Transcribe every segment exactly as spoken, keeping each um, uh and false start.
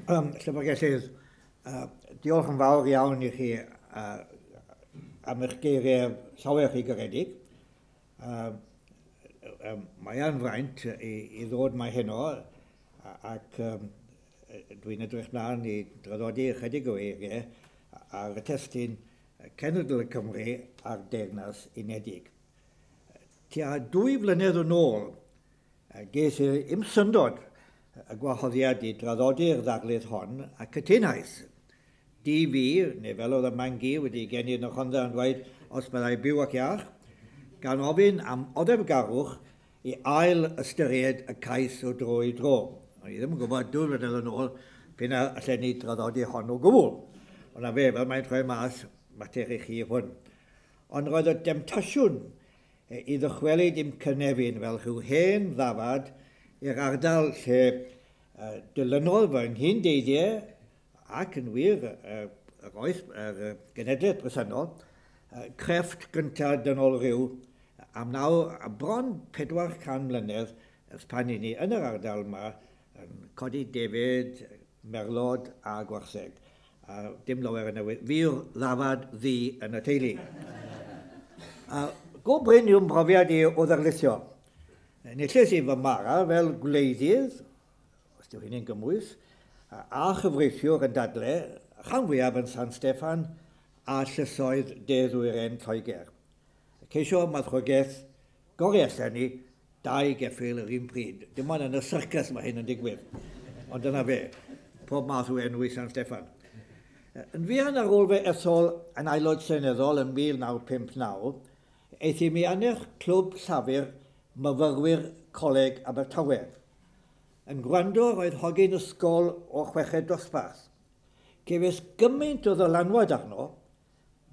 Um, Llyfrgellydd, uh, diolch yn fawr iawn i chi uh, am eich geiriau llawer chi garedig. Uh, um, mae yn fraint i, i ddod mae heno ac um, dwi'n edrych mlaen i draddodi ychydig o eiriau ar y testun Cenedl y Cymru a'r Deyrnas Unedig. Tua dwy flynedd yn ôl, ges i i'm syndod y gwahoddiad i draddodi'r ddarlith hon a cytunais. Di fi, neu fel oedd y mangi wedi geni yn y Rhondda yn dweud, os byddai byw ac iach, gan ofyn am oddefgarwch i ail ystyried y cais o dro i dro. O'n i ddim yn gwybod dwy flynedd yn ôl p'un a allen ni draddodi hon o gwbl. Ond na fe, fel mae'n troi mas, mater i chi hwn. Ond roedd y demtasiwn i ddychwelyd i'm cynefin fel rhyw hen ddafad i'r ardal lle uh, dilynodd fy nghyn-deithiau ac yn wir uh, yr oes, yr uh, genedlaeth bresennol, uh, crefft gyntaf dynol rhyw am naw, a bron pedwar can mlynedd ers pan i ni yn yr ardal yma yn codi defaid, merlod a gwartheg. A dim lawer yn newid. Fi yw'r ddafad ddu yn y teulu. A go brin yw'n brofiad i o ddarlithio. Enillais i fy mara fel gwleidydd, os dyw hynny'n gymwys, a chyfreithiwr yn dadle, rhan fwyaf yn San Steffan a llysoedd de-ddwyrain Lloegr. Ceisio marchogaeth gorau allan ni, dau geffyl yr un pryd. Dim ond yn y syrcas mae hyn yn digwydd. Ond dyna fe, pob math o enw i San Steffan. Yn fuan ar ôl fe ethol yn aelod seneddol yn mil naw pump naw, aeth i mi annerch clwb llafur myfyrwyr Coleg Abertawe. Yn gwrando roedd hogyn ysgol o chweched dosbarth. Cefais gymaint o ddylanwad arno,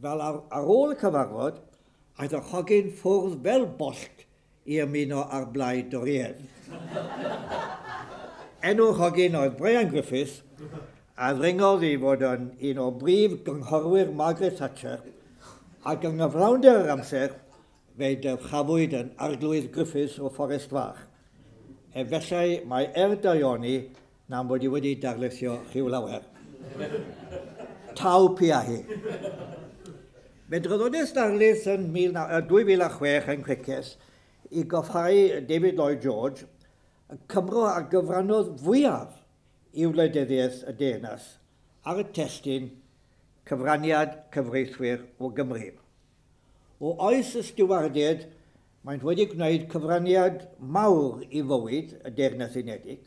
fel ar, ar ôl y cyfarfod, aeth yr hogyn ffwrdd fel bollt i ymuno â'r blaid Dorïaidd. Enw'r hogyn oedd Brian Griffiths, a ddringodd i fod yn un o brif gynghorwyr Margaret Thatcher, ac yng nghyflawnder yr amser, fe dyrchafwyd yn Arglwydd Griffiths o Fforest Fach. Efallai mae er daioni na'n bod i wedi darlithio rhyw lawer. Taw pia hi. Fe draddodais darlith yn dwy fil a chwech yn Criccieth i goffhau David Lloyd George, y Cymro a gyfrannodd fwyaf i wleidyddiaeth y deyrnas ar y testun cyfraniad cyfreithwyr o Gymru. O oes y stiwardiaid, maent wedi gwneud cyfraniad mawr i fywyd y Deyrnas Unedig.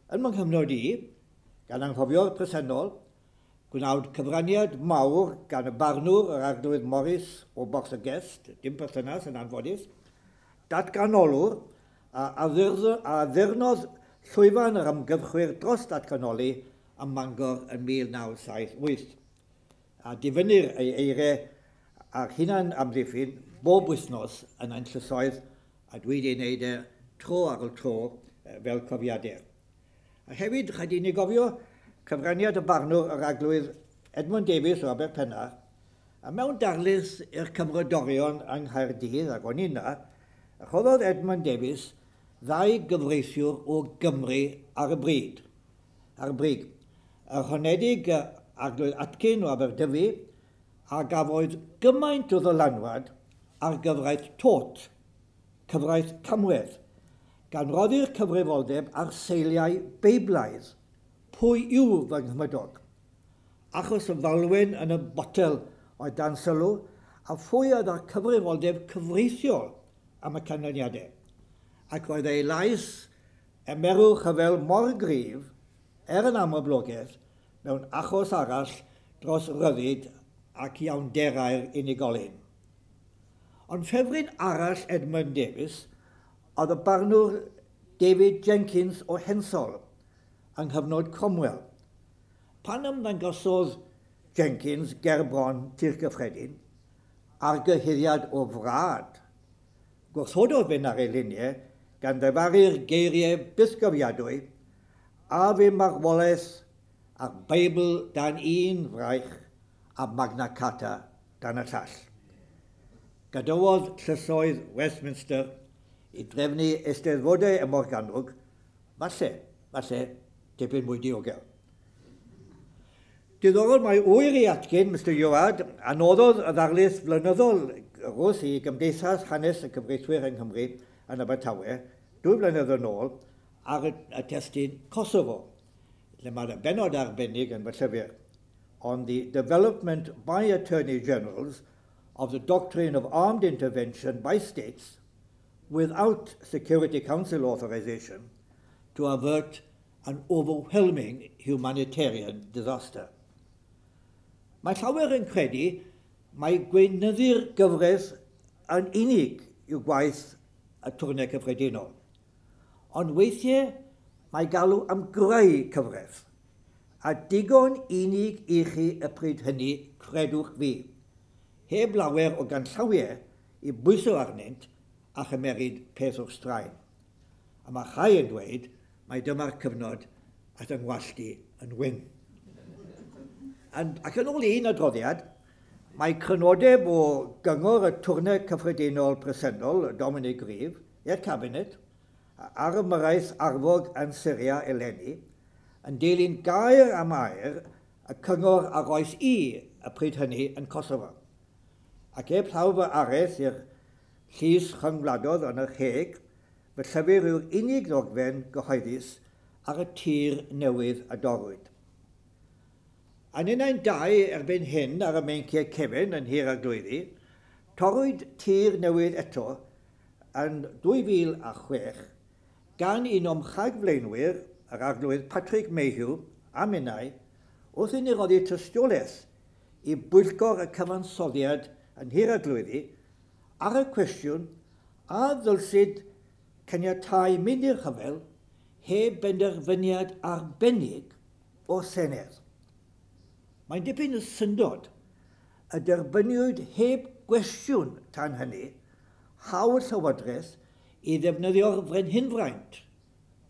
Yn fy nghyfnod i, gan anghofio'r presennol, gwnaed cyfraniad mawr gan y barnwr yr Arglwydd Morris o Borth y Gest, dim perthynas yn anffodus, datganolwr a addurnodd llwyfan yr ymgyrchwyr dros datganoli ym Mangor yn mil naw saith wyth. A difynnir ei eiriau a'r hunan amddiffyn bob wythnos yn ein llysoedd, a dwi wedi wneud e tro ar ôl tro fel cofiadur. A hefyd, rhaid i ni gofio cyfraniad y barnwr yr Arglwydd Edmund Davies o Aberpennar, a mewn darlith i'r Cymrodorion yng Nghaerdydd, ac o'n i yna, rhoddodd Edmund Davies ddau gyfreithiwr o Gymru ar y bryd. Ar y brig. Yr honedig Arglwydd Atkin o Aberdyfi, a gafodd gymaint o ddylanwad ar gyfraith tort, cyfraith camwedd, gan roddi'r cyfrifoldeb ar seiliau Beiblaidd. Pwy yw fy nghymydog? Achos y falwen yn y botel oedd dan sylw, a phwy oedd â'r cyfrifoldeb cyfreithiol am y canlyniadau. Ac roedd ei lais emerw rhyfel mor gryf, er yn amlblogaeth, mewn achos arall dros ryddid ac iawnderau'r unigolyn. Ond ffefryn arall Edmund Davies oedd y barnwr David Jenkins o Hensol yng nghyfnod Cromwell. Pan ymddangosodd Jenkins gerbron Tŷ'r Cyffredin ar gyhuddiad o frad, gwrthododd fynd ar ei luniau gan ddyfaru'r geiriau bythgofiadwy a fi marwolaeth a'r Beibl dan un fraich a Magna Carta dan y llall. Gadawodd llysoedd Westminster i drefnu eisteddfodau ym Morgannwg, falle, falle, tipyn mwy diogel. Diddorol mae ŵyr i atgyn, Mister Ioad, a noddodd y ddarlith flynyddol rws i Gymdeithas Hanes y Cyfreithwyr yng Nghymru yn Abertawe, dwy flynedd yn ôl, ar y, y testun Kosovo, lle mae'r benod arbennig yn fy llyfr, on the development by Attorney Generals of the doctrine of armed intervention by states without Security Council authorization to avert an overwhelming humanitarian disaster. Mae llawer yn credu mai gweinyddu'r gyfres yn unig yw gwaith y twrne cyffredinol. Ond weithiau mae galw am greu cyfres, a digon unig i chi y pryd hynny, credwch fi, heb lawer o ganllawiau i bwyso arnynt a chymeryd peth o'r straen. A mae rhai yn dweud mai dyma'r cyfnod at yng ngwallt i yn wyn. And, ac yn ôl un adroddiad, mae crynodeb o gyngor y twrne cyffredinol presennol, Dominic Grieve, i'r cabinet, ar ymyrraeth arfog yn Syria eleni, yn dilyn gair am air y cyngor a roes i y pryd hynny yn Kosovo. Ac heb llaw fy araith i'r llys rhyngwladol yn yr Hague, fy llyfr yw'r unig ddogfen gyhoeddus ar y tir newydd a dorrwyd. A ninnau'n dau erbyn hyn ar y meinciau cefn yn Nhŷ'r Arglwyddi, torrwyd tir newydd eto yn dwy fil a chwech gan un o'm rhagflaenwyr, yr arglwydd Patrick Mayhew, a minnau, wrth i ni roddi tystiolaeth i bwyllgor y cyfansoddiad yn Nhŷ'r Arglwyddi ar y cwestiwn a ddylsid caniatáu mynd i'r rhyfel heb benderfyniad arbennig o'r Senedd. Mae'n dipyn o syndod y derbyniwyd heb gwestiwn tan hynny hawl Llywodraeth i ddefnyddio'r frenhinfraint,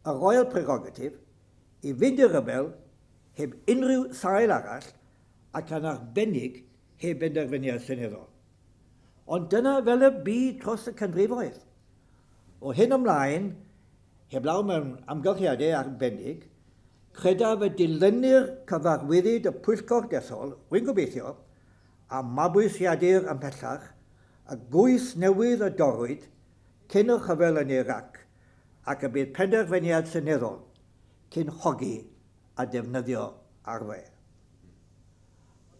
y Royal Prerogative, i fynd i'r rhyfel heb unrhyw sail arall ac yn arbennig heb benderfyniad seneddol. Ond dyna fel y bu dros y canrifoedd. O hyn ymlaen, heblaw mewn amgylchiadau arbennig, credaf y dilynir cyfarwyddyd y pwyllgor dethol, rwy'n gobeithio, a mabwysiadur ymhellach, y gwys newydd y dorrwyd cyn y rhyfel yn Iraq ac y bydd penderfyniad seneddol cyn hogi a defnyddio arfau.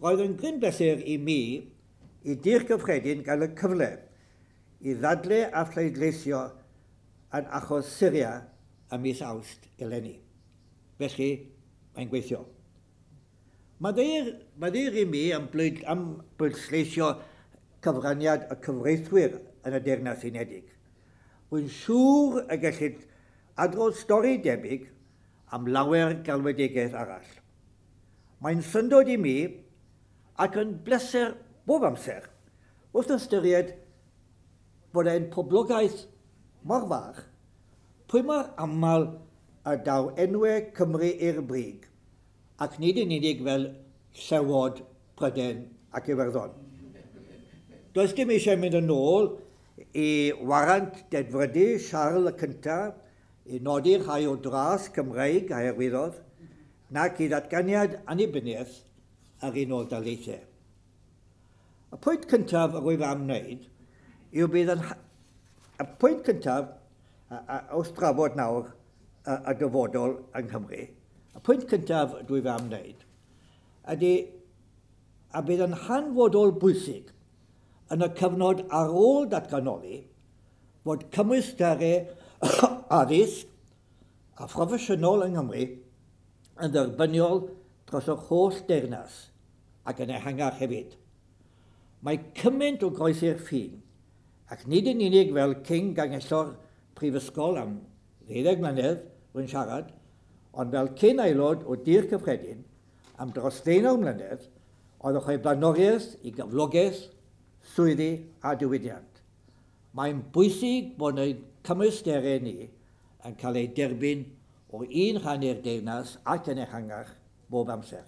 Roedd yn gryn bleser i mi i Dŷ'r Cyffredin gael y cyfle i ddadle a phleidleisio yn achos Syria ym mis Awst eleni. Felly, mae'n gweithio. Maddeuir i mi am, blwyd, am bwysleisio cyfraniad y cyfreithwyr yn y Deyrnas Unedig. Rwy'n siŵr y gellid adrodd stori debyg am lawer galwedigaeth arall. Mae'n syndod i mi ac yn bleser bob amser wrth ystyried bod ein poblogaeth mor fach, pwy mor aml y daw enwau Cymru i'r brig, ac nid yn unig fel Llewod, Prydain ac Iwerddon. Does dim eisiau mynd yn ôl i warant dedfrydu Siarl y Cyntaf, i nodi rhai o dras Cymreig a hyrwyddodd, nac i ddatganiad annibyniaeth yr Unol Daleithiau. Y pwynt cyntaf yr wyf am wneud yw bydd yn... Y pwynt cyntaf, wrth drafod nawr y, y dyfodol yng Nghymru, y pwynt cyntaf dwi am wneud ydy a bydd yn hanfodol bwysig yn y cyfnod ar ôl datganoli fod cymwysterau addysg a phroffesiynol yng Nghymru yn dderbyniol dros yr holl deyrnas ac yn ehangach hefyd. Mae cymaint o groesi'r ffin, ac nid yn unig fel cyn gangellor prifysgol am ddeuddeg mlynedd rwy'n siarad, ond fel cyn aelod o Dŷ'r Cyffredin am dros ddeunaw mlynedd oedd yn rhoi blaenoriaeth i gyflogaeth, swyddi a diwydiant. Mae'n bwysig bod ein cymwysterau ni yn cael eu derbyn o un rhan i'r deyrnas ac yn ehangach bob amser.